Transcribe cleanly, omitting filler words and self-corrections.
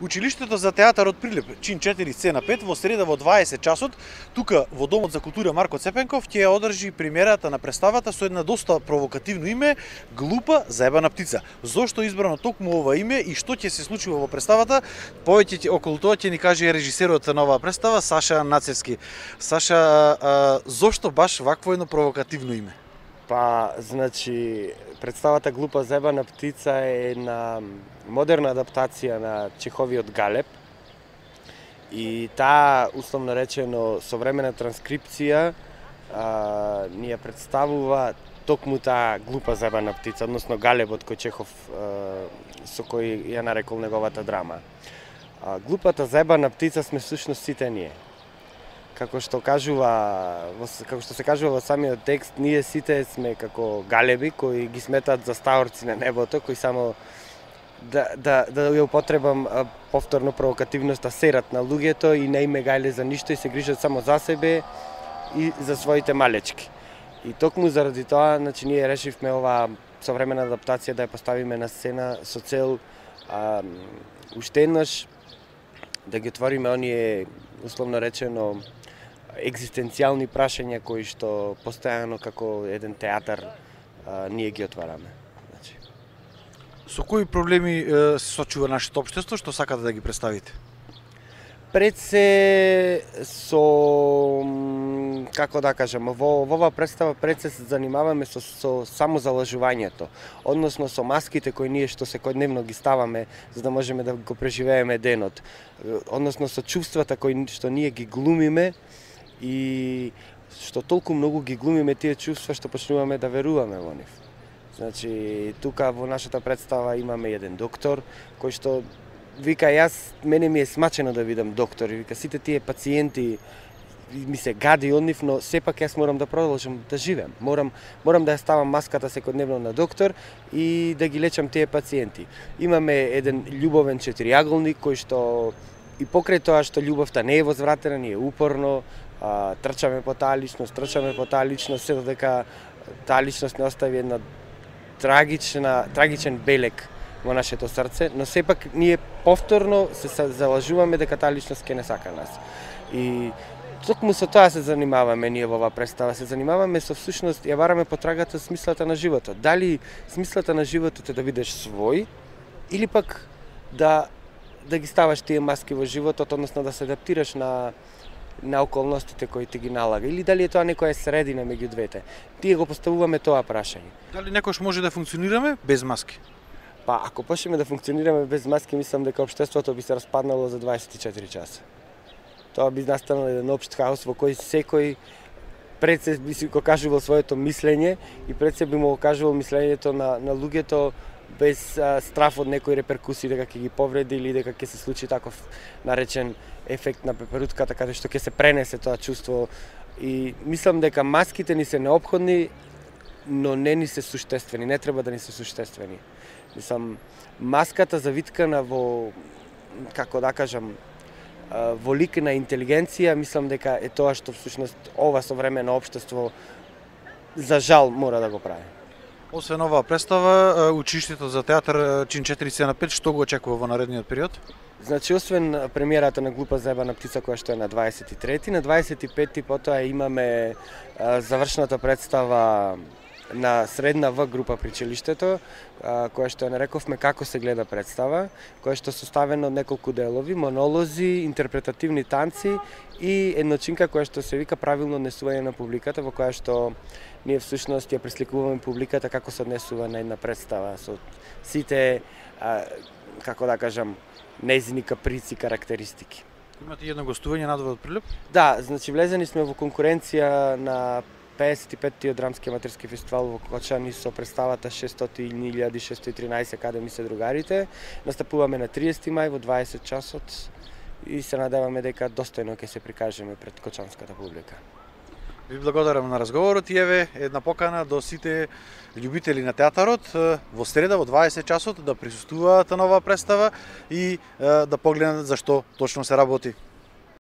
Училиштето за театар од Прилеп, чин 4 сцена 5, во среда во 20 часот, тука во Домот за култура Марко Цепенков ќе одржи премиерата на представата со една доста провокативно име Глупа заебана птица. Зошто избрано токму ова име и што ќе се случува во представата? Повеќе околу тоа ќе ни каже режисерот на оваа представа Саша Нацевски. Саша, зошто баш вакво едно провокативно име? Па, значи, представата Глупа заебана птица е една модерна адаптација на Чеховиот Галеб и таа, условно речено, современа транскрипција ни ја представува токму таа глупа заебана птица, односно Галебот кој Чехов со кој ја нарекол неговата драма. Глупата заебана птица сме всушност сите ние. Како што се кажува во самиот текст, ние сите сме како галеби кои ги сметаат за стаорци на небото, кои само да ја употребам повторно провокативноста серат на луѓето и не име гајле за ништо и се грижат само за себе и за своите малечки. И токму заради тоа, значи ние решивме оваа современа адаптација да ја поставиме на сцена со цел уште еднаш да ги отвориме оние условно речено екзистенцијални прашања кои што постојано како еден театар ние ги отвараме. Значи, со кои проблеми се сочува нашето општество што сакате да ги представите? Пред се со, како да кажам, во оваа представа пред се занимаваме со самозалажувањето, односно со маските кои ние што секојдневно ги ставаме за да можеме да го преживееме денот, односно со чувствата кои што ние ги глумиме и што толку многу ги глумиме тие чувства што почнуваме да веруваме во нив. Значи, тука во нашата представа имаме еден доктор кој што вика, мене ми е смачено да видам доктор, вика, сите тие пациенти ми се гади од нив, но сепак јас морам да продолжам да живеам. Морам да ја ставам маската секојдневно на доктор и да ги лечам тие пациенти. Имаме еден љубовен четириаголник кој што и покрај тоа што љубовта не е возвратена, ние упорно трчаме по таа личност, се додека таа личност не остави една трагичен белег во нашето срце, но сепак ние повторно се залажуваме дека таа личност ќе не сака нас. И токму со тоа се занимаваме ние во оваа представа, се занимаваме со всушност ја бараме потрагата смислата на животот. Дали смислата на животот е да бидеш свој или пак да ги ставаш тие маски во животот, односно да се адаптираш на околностите кои ти ги налага, или дали е тоа некоја средина меѓу двете. Тие го поставуваме тоа прашање. Дали некош може да функционираме без маски? Па, ако почнеме да функционираме без маски, мислам дека општеството би се распаднало за 24 часа. Тоа би настанал еден општ хаос во кој секој пред се би си го кажувал своето мислење и пред се би му го кажувал мислењето на луѓето без страф од некои реперкусии дека ќе ги повреди или дека ќе се случи таков наречен ефект на пеперутката каде што ќе се пренесе тоа чувство. И мислам дека маските ни се неопходни, но не ни се суштествени, не треба да ни се суштествени. Мислам, маската завиткана во, како да кажам, во лик на интелигенција, мислам дека е тоа што всушност ова современо општество за жал мора да го прави. Освен оваа представа, училиштето за театар чин 4 сцена 5, што го очекува во наредниот период? Значи, освен премиерата на Глупа заебана птица која што е на 23-ти, на 25-ти потоа имаме завршната представа на средна В група при училиштето, која што ја нарековме Како се гледа представа, која што составена од неколку делови, монолози, интерпретативни танци и едночинка која што се вика правилно однесување на публиката, во која што ние всушност ја пресликуваме публиката како се однесува на една представа со сите, како да кажам, нејзини каприци, карактеристики. Имате едно гостување надвор од Прилеп? Да, значи влезени сме во конкуренција на 55-тиот драмски аматерски фестивал во Кочани со представата 600.613 каде ми се другарите. Настапуваме на 30 мај во 20 часот и се надеваме дека достојно ќе се прикажеме пред кочанската публика. Ви благодарам на разговорот и еве една покана до сите љубители на театарот во среда во 20 часот да присуствуваат на оваа представа и да погледнат за што точно се работи.